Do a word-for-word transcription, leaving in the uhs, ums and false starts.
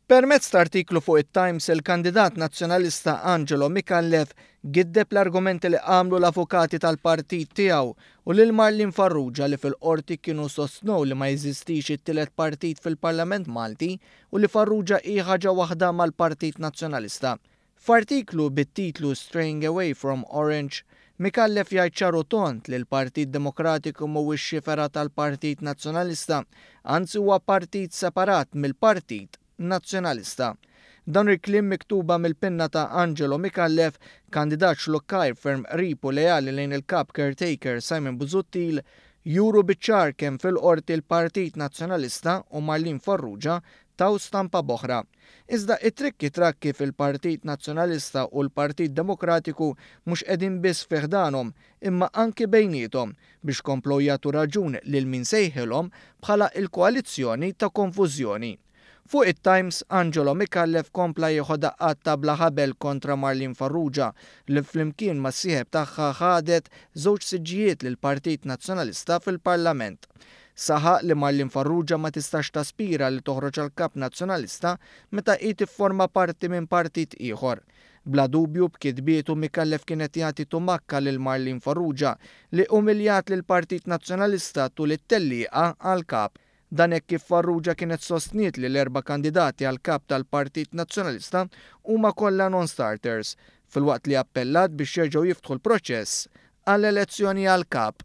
Permezz ta' artiklu fuq it-Times, il-kandidat nazzjonalista Angelo Micallef giddeb l-argumenti li għamlu l-avukati tal-partit tiegħu u lil Marlene Farrugia li fil-qorti kienu sostnew li ma jeżistix it-tielet partit fil-Parlament Malti u li Farrugia hi ħaġa waħda mal-Partit Nazzjonalista. F'artiklu bit-titlu "Straying Away from Orange", Micallef jgħid ċar u tond li l-Partit Demokratiku mhuwiex xi fergħa tal-Partit Nazzjonalista, anzi huwa partit separat mill-Partit Nazzjonalista. Dan il-kliem miktuba mill-pinna ta' Angelo Micallef, kandidat xlukkajr ferm qrib u leali lejn il-kap caretaker Simon Busuttil, juru biċ-ċar kemm fil-qorti l-Partit Nazzjonalista u Marlene Farrugia taw stampa b'oħra. Iżda it-trikki trakki fil-Partit Nazzjonalista u l-Partit Demokratiku mhux qegħdin biss fi ħdanhom imma anki bejniethom biex komplow jagħtu raġun lil min sejħilhom bħala il-koalizzjoni ta' konfużjoni. Fuq it-Times, Angelo Micallef kompla jieħu daqqat ta' bla ħabel kontra Marlene Farrugia li flimkien mas-sieħeb tagħha ħadet żewġ siġġijiet lil Partit Nazzjonalista fil-Parlament. Saħaq li Marlene Farrugia ma tistax taspira li toħroġ għal kap nazzjonalista meta hi tifforma parti minn partit ieħor. Bla dubju, b'kitbietu Micallef kienet jagħti tumakka lil Marlene Farrugia li umiljat lil Partit Nazzjonalista tul it-tellieqa għal kap. Dan hekk kif Farrugia kienet sostniet li l-erba' kandidati għal kap tal-Partit Nazzjonalista huma kollha non-starters, filwaqt li appellat biex jerġgħu jiftħu l-proċess għall-elezzjoni għal kap.